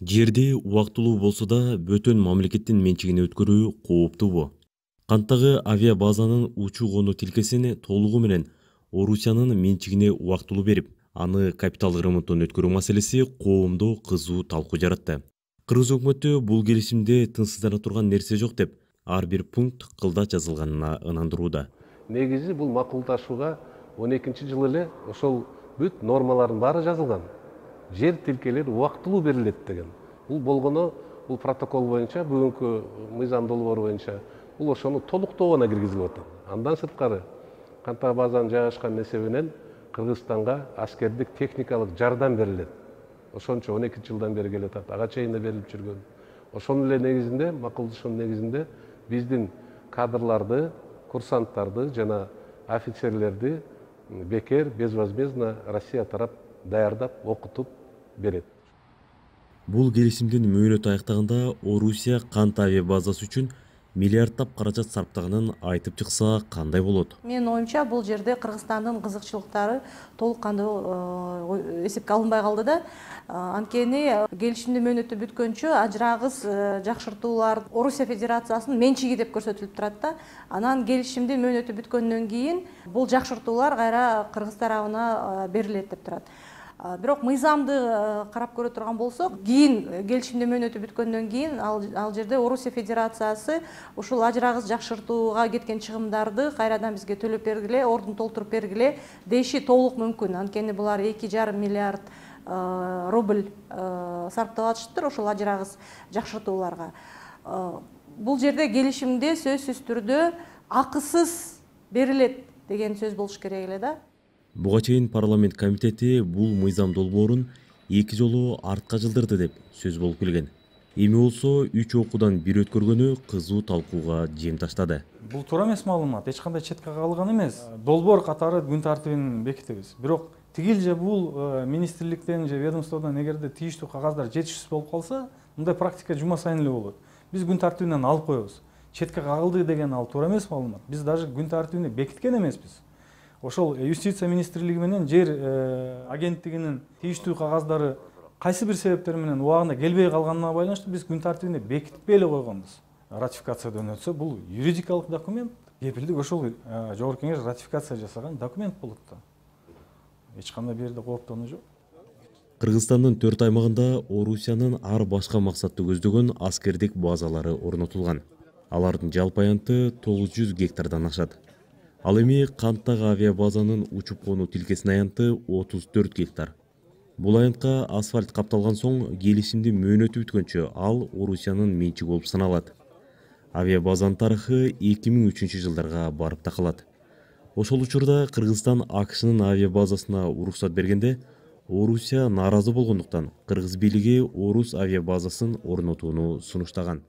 Жерди убактылуу болсо да бөтөн мамлекеттин менчигине өткөрүү кооптуубу? Канттагы авиабазанын учуу-конуу тилкесин толугу менен Орусиянын менчигине убактылуу берип, аны капиталдык ремонттон өткөрүү маселеси коомдо кызуу талкуу жаратты. Кыргыз өкмөтү бул келишимде тынчсыздана турган нерсе жок деп, ар бир пункт кылда жазылганына ынандырууда. Негизи бул макулдашууга 12-жылы эле ошол бүт нормалардын баары жазылган. Жер тилкелери убактылуу берилет деген. Бул болгону, бул протокол боюнча, бүгүнкү мыйзам долбоору боюнча бул ошону толуктоого киргизилип атат. Андан сырткары Канттагы базанын жайгашкан эсебинен Кыргызстанга аскердик техникалык жардам берилет. Ошончо 12 жылдан бери келе атат. Ага чейин да берилип жүргөн. Ошонун эле негизинде, макулдашуунун негизинде биздин кадрларды, курсанттарды жана офицерлерди бекер, безвозмездно Россия тарап даярдап, окутуп берет. Бул келишимдин мөөнөтү аяктаганда Орусия кант авиабазасы үчүн миллиарддап каражат сарптаганын айтып чыкса кандай болот? Менин оюмча, бул жерде Кыргызстандын кызыкчылыктары толук кандуу эсепке алынбай калды да. Анткени келишимдин мөөнөтү бүткөнчө ажырагыс жакшыртуулар Орусия Федерациясынын менчиги деп көрсөтүлүп турат да. Анан келишимдин мөөнөтү бүткөндөн кийин бул жакшыртуулар кайра Кыргыз тарабына берилет деп турат. Бирок мыйзамды карап көрө турган болсок, кийин келишимдин мөөнөтү бүткөндөн кийин ал жерде Орусия Федерациясы ушул ажырагыс жакшыртууга кеткен чыгымдарды кайрадан бизге төлөп бергиле, ордун толтуруп бергиле деши толук мүмкүн. Анткени булар 2,5 миллиард рубль сарптап атышыптыр ошол ажырагыс жакшыртууларга. Бул жерде келишимде сөзсүз түрдө акысыз берилет деген сөз болуш керек эле да. Буга чейин парламент комитети бул мыйзам долбоорун 2 жолу артка жылдырды деп сөз болуп келген. Эми болсо 3 окуудан бир өткөргөнү кызуу талкууга жем таштады. Бул туура эмес маалымат, эч кандай четке кагылган эмес. Долбоор катары күн тартибин бекитебиз. Бирок тигил же бул министрликтен же ведомстводон эгерде тийиштүү кагаздар жетишсиз болуп калса, мындай практика жума сайын эле болот. Биз күн тартибинен алып коебуз. Четке кагылды деген ал туура эмес маалымат. Биз даже күн тартибини бекиткен эмеспиз. Ошол юстиция министрлиги менен жер агенттигинин тийиштүү кагаздары кайсы бир себептер менен убагында келбей калганына байланыштуу биз күн тартибине бекитпей эле койгонбуз. Ратификациядан өтсө бул юридикалык документ, кепилдик ошол Жогорку Кеңеш ратификация жасаган документ болот да. Эч кандай бир жерде кооптонуу жок. Кыргызстандын 4 аймагында Орусиянын ар башка максатты көздөгөн аскердик базалары орнотулган. Алардын жалпы аянты 900 гектардан ашат. Ал эми канттагы авиабазанын учуп-конуу тилкесинин аянты 34 гектар. Бул аянтка асфальт капталган соң келишимдин мөөнөтү бүткөнчө ал Орусиянын менчиги болуп саналат. Авиабазанын тарыхы 2003-жылдарга барып такалат. Ошол учурда Кыргызстан АКШнын авиабазасына уруксат бергенде Орусия нааразы болгондуктан Кыргыз бийлиги Орус авиабазасын орнотууну сунуштаган.